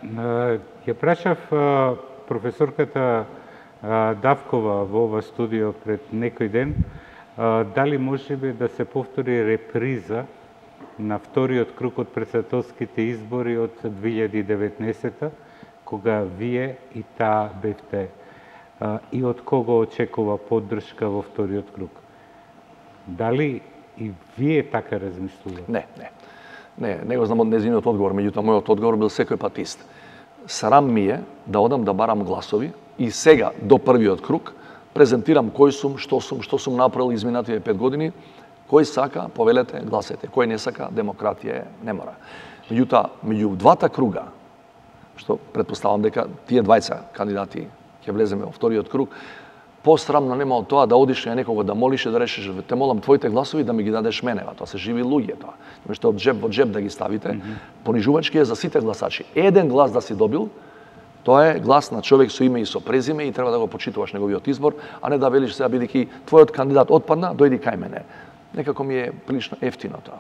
Ја прашав професорката Давкова во ова студио пред некој ден, дали може би да се повтори реприза на вториот круг од претседателските избори од 2019 кога вие и таа бевте и од кого очекува поддршка во вториот круг. Дали и вие така размислувате? Не го знам од незиниот одговор, меѓутоа мојот одговор бил секој пат ист. Срам ми е да одам да барам гласови и сега до првиот круг презентирам кој сум, што сум направил изминативе 5 години. Кој сака, повелете, гласете. Кој не сака, демократија не мора. Меѓутоа, меѓу двата круга, што претпоставам дека тие двајца кандидати ќе влеземе во вториот круг, посрамно нема од тоа да одиш на некого да молиш и да решиш, те молам твоите гласови да ми ги дадеш мене, тоа се живи луѓе тоа. Нешто од джеб во джеб да ги ставите, понижувачки е за сите гласачи. Еден глас да си добил, тоа е глас на човек со име и со презиме и треба да го почитуваш неговиот избор, а не да велиш сега бидејќи твојот кандидат отпадна, дојди кај мене. Некако ми е прилично ефтино тоа.